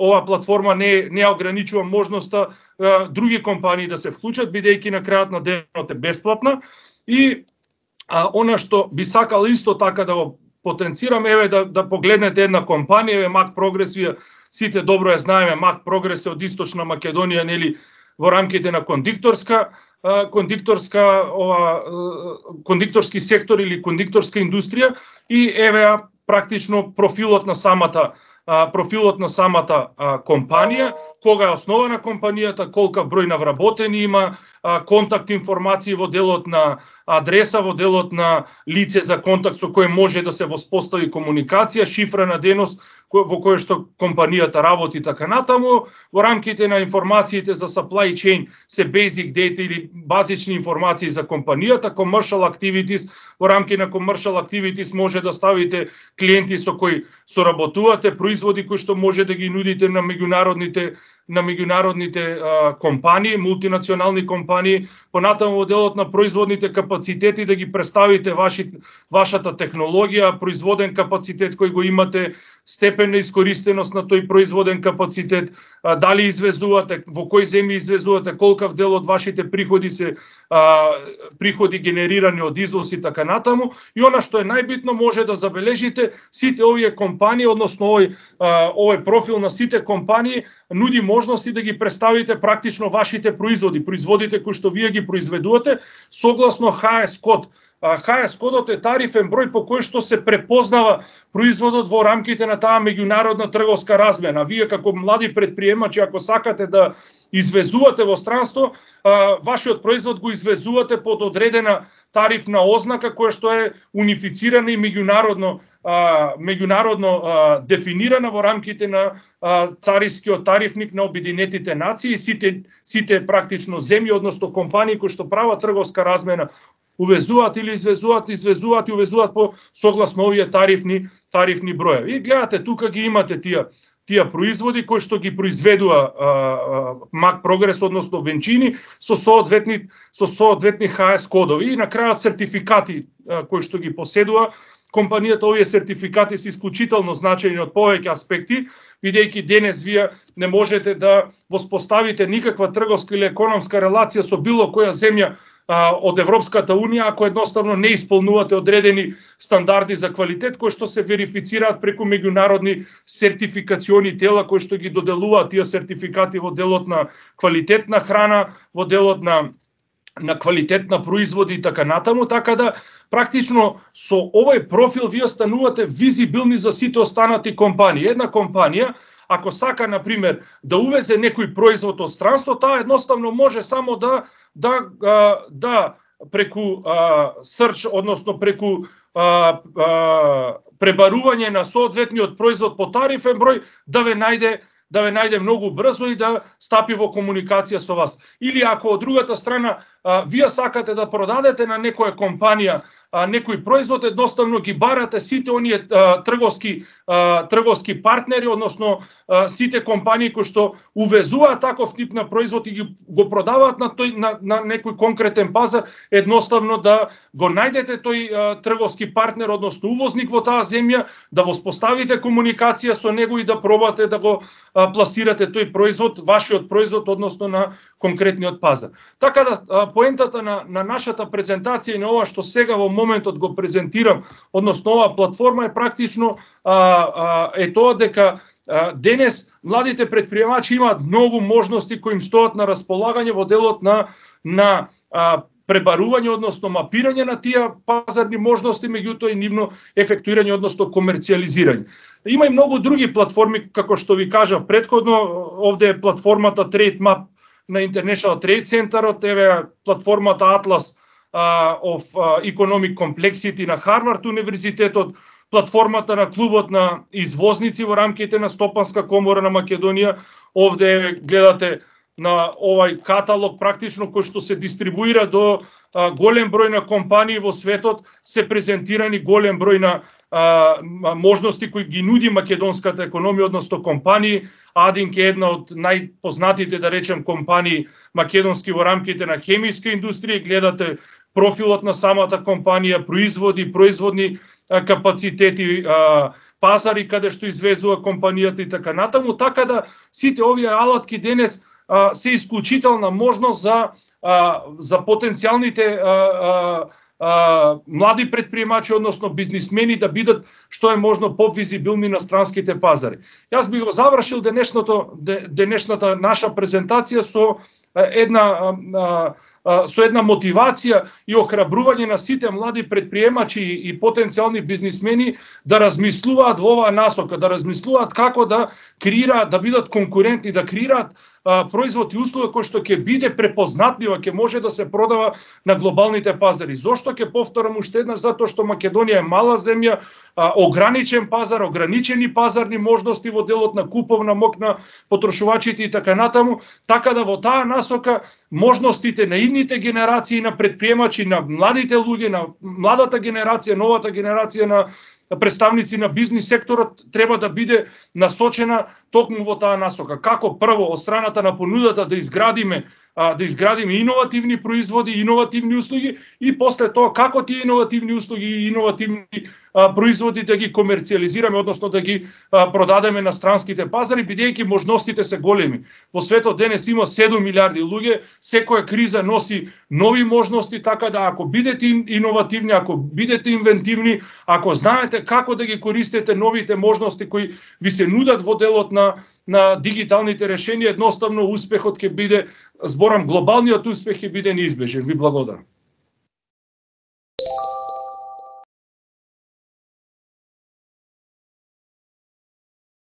ова платформа не ограничува можноста други компании да се вклучат, бидејќи на крајот на денот е бесплатна. И она што би сакал исто така да го потенцирам, еве да погледнете една компанија, еве Mac Progress, вие сите добро ја знаеме, Mac Progress е од Источна Македонија, нели, во рамките на кондикторски сектор или кондикторска индустрија, и еве практично профилот на самата компанија, кога е основана компанијата, колка број на вработени има, контакт информации во делот на адреса, во делот на лице за контакт со кој може да се воспостави комуникација, шифра на деност во која што компанијата работи, така натаму. Во рамките на информациите за supply chain се basic data или базични информации за компанијата, commercial activities, во рамки на commercial activities може да ставите клиенти со кои соработувате, производи кои што може да ги нудите на меѓународните компании, мултинационални компании, понатаму во делот на производните капацитети да ги представите вашата технологија, производен капацитет кој го имате, степен на искористеност на тој производен капацитет, дали извезувате, во кои земји извезувате, колкав дел од вашите приходи се приходи генерирани од извоз и така натаму. И она што е најбитно, може да забележите, сите овие компании, односно овој профил на сите компании нуди можности да ги представите практично вашите производите кои што вие ги произведувате согласно HS код. HS кодот е тарифен број по кој што се препознава производот во рамките на таа меѓународна трговска размена. Вие како млади предприемачи, ако сакате да извезувате во странство, вашиот производ го извезувате под одредена тарифна ознака која што е унифицирана и меѓународно дефинирана во рамките на царискиот тарифник на Обединетите нации. Сите практично земји, односно компании кои што прават трговска размена, увезуваат или извезуваат и увезуваат по согласно овие тарифни броеви. И гледате, тука ги имате тие производи кои што ги произведува Mac Progress, односно венчини, со соодветни HS кодови и на крајот сертификати кои што ги поседува компанијата. Овие сертификати се исклучително значајни од повеќе аспекти, бидејќи денес вие не можете да воспоставите никаква трговска или економска релација со било која земја од Европската Унија ако едноставно не исполнувате одредени стандарди за квалитет кои што се верифицираат преку меѓународни сертификациони тела кои што ги доделуваат тие сертификати во делот на квалитет на храна, во делот на квалитет на производи и така натаму, така да практично со овој профил вие станувате визибилни за сите останати компании. Една компанија ако сака, например, да увезе некој производ од странство, таа едноставно може само да преку search, односно преку пребарување на соодветниот производ по тарифен број, да ве најде многу брзо и да стапи во комуникација со вас. Или ако од другата страна вие сакате да продадете на некоја компанија некој производ, едноставно ги барате сите оние трговски партнери, односно сите компании кои што увезуваат таков тип на производ и го продаваат на некој конкретен пазар, едноставно да го најдете тој трговски партнер, односно увозник во таа земја, да воспоставите комуникација со него и да пробате да го пласирате тој производ, вашиот производ, односно на конкретниот пазар. Така да поентата на нашата презентација и на ова што сега во моментот го презентирам, односно оваа платформа е практично е тоа дека денес младите предприемачи имаат многу можности кои им стоат на располагање во делот на пребарување, односно мапирање на тие пазарни можности, меѓутоа и нивно ефектуирање, односно комерцијализирање. Има и многу други платформи, како што ви кажав претходно, овде е платформата TradeMap на International Trade Center, еве платформата Atlas of Economic Complexity на Харвард универзитетот, платформата на клубот на извозници во рамките на Стопанска комора на Македонија. Овде гледате на овај каталог практично кој што се дистрибуира до голем број на компании во светот, се презентирани голем број на можности кои ги нуди македонската економија, односно компании. Адинк е една од најпознатите, да речем, компании македонски во рамките на хемиска индустрија. Гледате профилот на самата компанија, производни капацитети, пазари каде што извезува компанијата и така натаму, така да сите овие алатки денес се исклучителна можност за потенцијалните млади предприемачи, односно бизнисмени, да бидат што е можно повизибилни на странските пазари. Јас би го завршил денешната наша презентација со една мотивација и охрабрување на сите млади предприемачи и потенцијални бизнисмени да размислуваат во оваа насока, да размислуваат како да креираат, да бидат конкурентни, да креираат производ и услуга кој што ќе биде препознатлива, ќе може да се продава на глобалните пазари. Зошто ќе повторам уште еднаш? Затоа што Македонија е мала земја, ограничен пазар, ограничени пазарни можности во делот на куповна моќ на потрошувачите и така натаму, така да во таа насока можностите на идните генерации на предприемачи, на младите луѓе, на младата генерација, новата генерација на представници на бизнис секторот треба да биде насочена токму во таа насока. Како прво од страната на понудата да изградиме иновативни производи, иновативни услуги и после тоа како тие иновативни услуги и иновативни производи да ги комерцијализираме, односно да ги продадеме на странските пазари, бидејќи можностите се големи. Во светот денес има 7 милиарди луѓе, секоја криза носи нови можности, така да ако бидете иновативни, ако бидете инвентивни, ако знаете како да ги користите новите можности кои ви се нудат во делот на дигиталните решенија, едноставно успехот ќе биде, зборам, глобалниот успех ќе биде неизбежен. Ви благодарам.